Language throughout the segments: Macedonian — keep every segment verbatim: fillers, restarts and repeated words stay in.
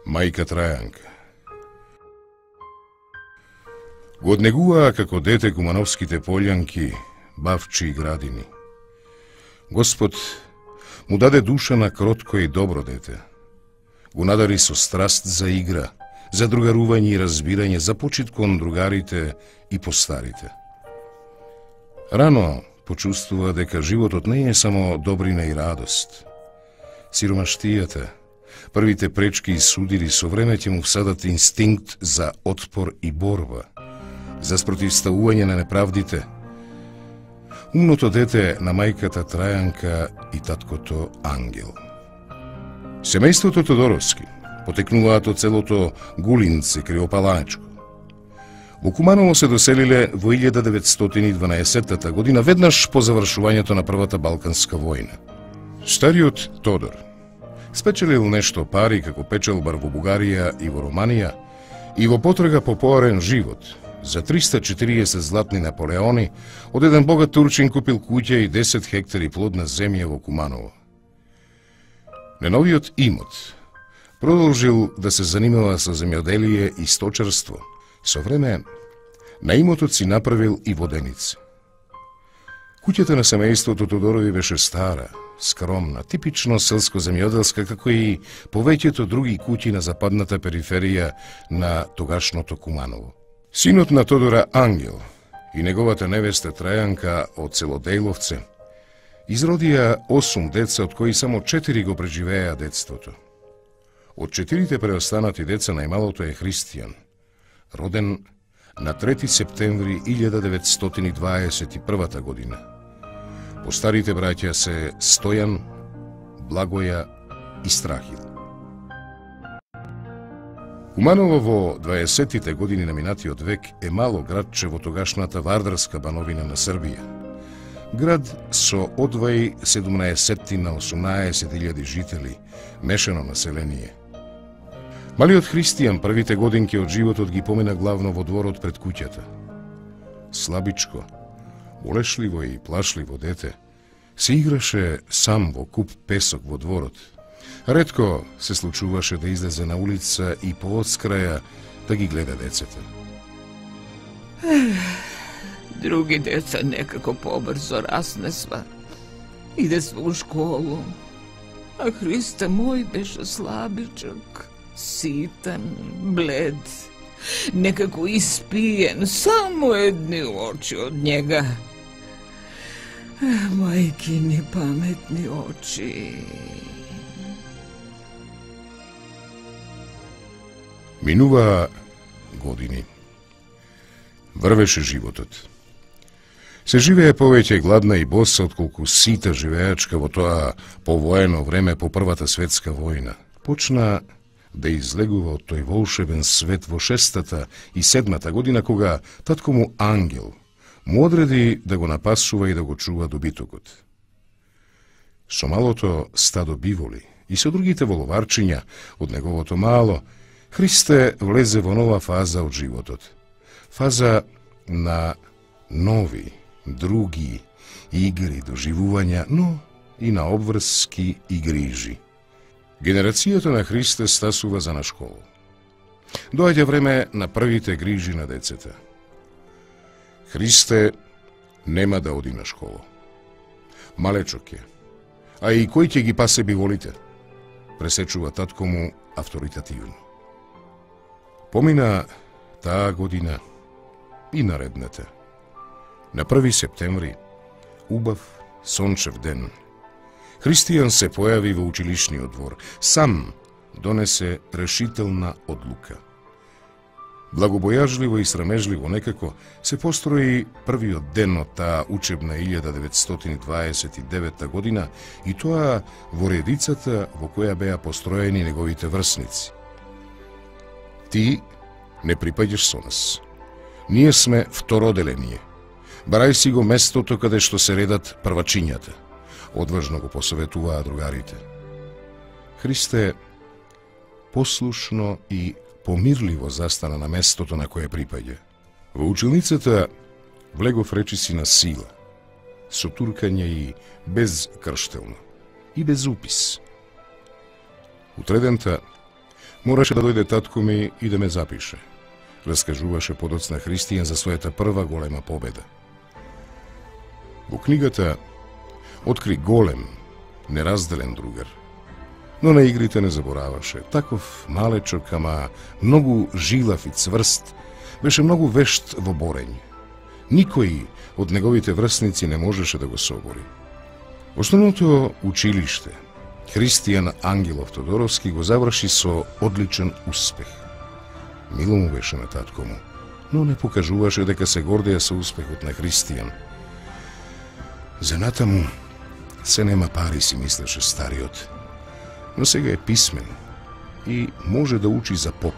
Мајка Трајанка. Го однегуваа како дете кумановските полјанки, бавчи и градини. Господ му даде душа на кротко и добро дете. Го надари со страст за игра, за другарување и разбирање, за почит кон другарите и постарите. Рано почувствува дека животот не е само добрина и радост. Сиромаштијата, првите пречки и судири со време ќе му всадат инстинкт за отпор и борба, за спротивставување на неправдите. Умното дете на мајката Трајанка и таткото Ангел. Семејството Тодоровски потекнуваат од селото Гулинце, Криопалачко. Во Куманово се доселиле во илјада деветстотини и дванаесетта година, веднаш по завршувањето на Првата Балканска војна. Стариот Тодор спечелил нешто пари како печелбар во Бугарија и во Романија и во потрага по поарен живот. За триста и четириесет златни наполеони од еден богат турчин купил куќа и десет хектари плодна земја во Куманово. Неновиот имот продолжил да се занимава со земјоделие и сточарство. Со време на имотот си направил и воденица. Куќата на семејството Тодорови беше стара, скромна, типично селско-земјоделска, како и повеќето други куќи на западната периферија на тогашното Куманово. Синот на Тодора Ангел и неговата невеста Трајанка од село Дејловце изродија осум деца, од кои само четири го преживеа детството. Од четирите преостанати деца најмалото е Христијан, роден на трети септември илјада деветстотини дваесет и прва година. Постарите браќа се Стојан, Благоја и Страхил. Куманово во дваесеттите години на минатиот век е мало градче во тогашната Вардарска бановина на Србија. Град со одвај седумнаесет на осумнаесет илјади жители, мешано население. Малиот Христијан првите годинки од животот ги помина главно во дворот пред куќата. Слабичко, болешливо и плашливо дете, се играше сам во куп песок во дворот. Ретко се случуваше да излезе на улица и по одскраја да ги гледа децата. Други деца некако побрзо раснесва. Иде сва у школу. А Христе мој беше слабичок, ситен, блед, некако испиен, само едни очи од njega. Мајкини паметни очи. Минуваа години. Врвеше животот. Се живее повеќе гладна и боса отколку сита живеачка во тоа повоено време по Првата светска војна. Почна да излегува од тој волшебен свет во шестата и седмата година, кога татко му Ангел му одреди да го напасува и да го чува добитокот. Со малото стадо биволи и со другите воловарчиња од неговото мало, Христе влезе во нова фаза од животот. Фаза на нови, други игри, доживувања, но и на обврски и грижи. Генерацијата на Христе стасува за на школу. Доаѓа време на првите грижи на децата. Христе нема да оди на школа. Малечок е. А и кој ќе ги пасе биволите? Пресечува татко му авторитативно. Помина таа година и наредната. На први септември, убав, сончев ден, Христијан се појави во училишниот двор. Сам донесе решителна одлука. Благобојажливо и срамежливо некако се построи првиот ден од таа учебна илјада деветстотини дваесет и девета година, и тоа во редицата во која беа построени неговите врсници. Ти не припаѓаш со нас. Ние сме второделение. Барај си го местото каде што се редат првачињата. Одважно го посоветуваа другарите. Христе послушно и помирливо застана на местото на кое припаѓа. Во училницата влегов речиси на сила, со туркање и безкрштелно, и без упис. Утредента Мораше да дојде татко ми и да ме запише, раскажуваше подоцна Христијан за својата прва голема победа. Во книгата откри голем, неразделен другар, но на игрите не забораваше. Таков малечок, ама многу жилав и цврст, беше многу вешт во борење. Никој од неговите врсници не можеше да го собори. Основното училиште Христијан Ангелов Тодоровски го заврши со одличен успех. Мило му беше на татко му, но не покажуваше дека се гордеја со успехот на Христијан. За натаму се нема пари, си мислеше стариот, но сега е писмен и може да учи за поп.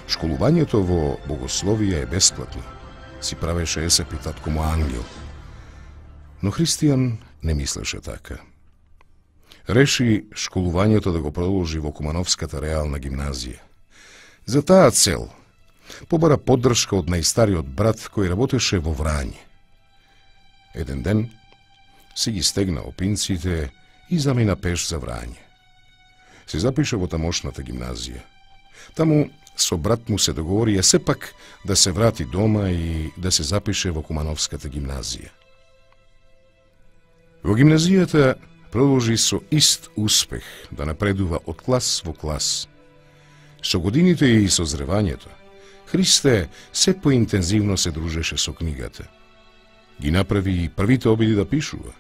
Школувањето во богословија е бесплатно, си правеше есепи татко му Ангел. Но Христијан не мислеше така. Реши школувањето да го продолжи во Кумановската реална гимназија. За таа цел побара поддршка од најстариот брат кој работеше во Врање. Еден ден си ги стегна опинците и замина пеш за Врање. Се запише во тамошната гимназија. Таму со брат му се договорија сепак да се врати дома и да се запише во Кумановската гимназија. Во гимназијата продолжи со ист успех да напредува од клас во клас. Со годините и со зревањето, Христе се поинтензивно се дружеше со книгата. Ги направи и првите обиди да пишува.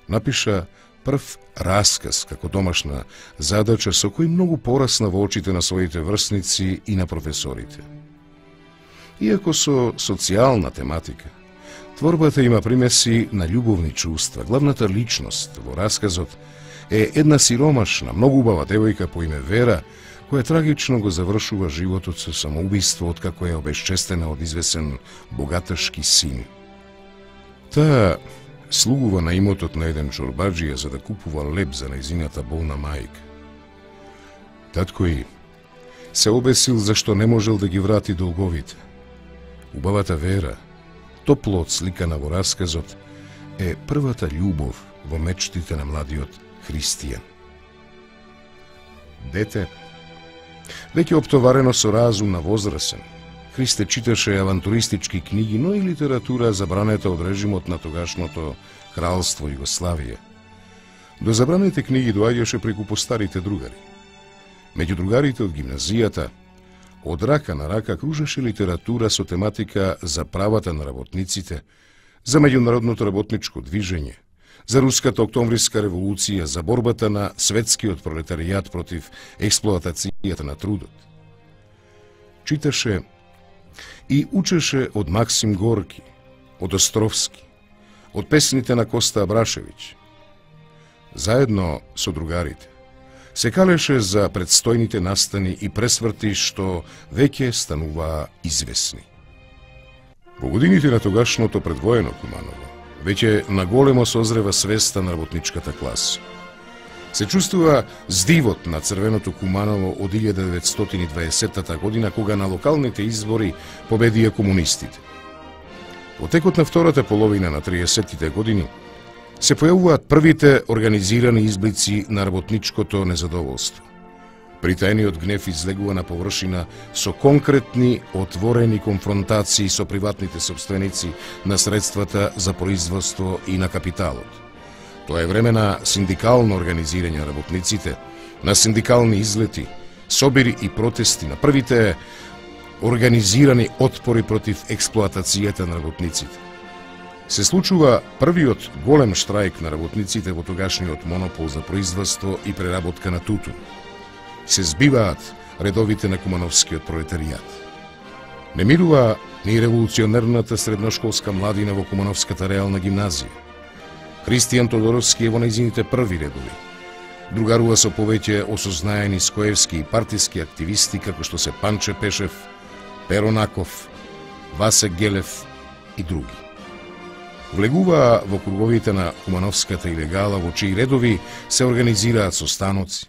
Напиша прв расказ како домашна задача со кој многу порасна во очите на своите врсници и на професорите. Иако со социјална тематика, творбата има примеси на љубовни чувства. Главната личност во расказот е една сиромашна, многу убава девојка по име Вера, која трагично го завршува животот со самоубиство откако е обесчестена од извесен богаташки син. Таа слугува на имотот на еден чорбаджија за да купува леб за нејзината болна мајка. Таткој се обесил зашто не можел да ги врати долговите. Убавата Вера, топло отсликана во расказот, е првата љубов во мечтите на младиот Христијан. Дете, веќе оптоварено со разум на возрасен, Христе читаше авантуристички книги, но и литература забранета од режимот на тогашното кралство Југославија. До забраните книги доаѓаше преку постарите другари. Меѓу другарите од гимназијата, од рака на рака кружеше литература со тематика за правата на работниците, за меѓународното работничко движење, за Руската октомвриска револуција, за борбата на светскиот пролетаријат против експлоатацијата на трудот. Читаше и учеше од Максим Горки, од Островски, од песните на Коста Абрашевиќ. Заедно со другарите се калеше за предстојните настани и пресврти што веќе стануваа известни. Во годините на тогашното предвоено Куманово веќе наголемо созрева свеста на работничката класа. Се чувствува здивот на црвеното Куманово од илјада деветстотини и дваесетта година, кога на локалните избори победија комунистите. Во текот на втората половина на триесеттите години се појавуваат првите организирани изблици на работничкото незадоволство. Притајниот гнев излегува на површина со конкретни, отворени конфронтации со приватните собственици на средствата за производство и на капиталот. Тоа е време на синдикално организирање на работниците, на синдикални излети, собири и протести, на првите организирани отпори против експлоатацијата на работниците. Се случува првиот голем штрајк на работниците во тогашниот монопол за производство и преработка на тутун. Се збиваат редовите на кумановскиот пролетаријат. Не мирува ни револуционерната средношколска младина во Кумановската реална гимназија. Христијан Тодоровски е во нејзините први редови. Другарува со повеќе осознаени скоевски и партиски активисти како што се Панче Пешев, Перо Наков, Васе Гелев и други. Влегува во круговите на Кумановската илегала, во чии редови се организираат состаноци,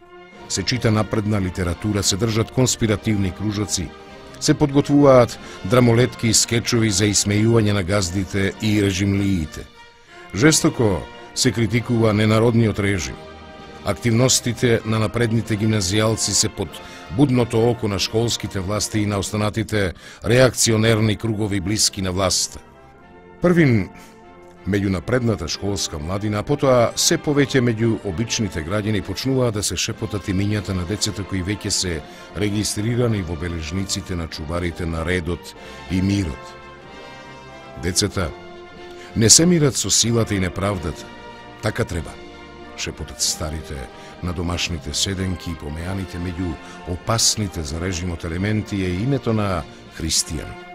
се чита напредна литература, се држат конспиративни кружоци, се подготвуваат драмолетки и скечови за исмејување на газдите и режимлиите. Жестоко се критикува ненародниот режим. Активностите на напредните гимназијалци се под будното око на школските власти и на останатите реакционерни кругови блиски на власта. Првин меѓу напредната школска младина, а потоа се повеќе меѓу обичните граѓани почнуваа да се шепотат имињата на децата кои веќе се регистрирани во бележниците на чуварите на редот и мирот. Децата не се мират со силата и неправдата, така треба, шепотат старите на домашните седенки и помеаните меѓу опасните за режимот елементи е името на христијан.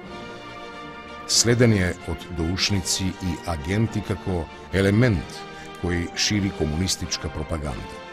Следен е од доушници и агенти како елемент кој шири комунистичка пропаганда.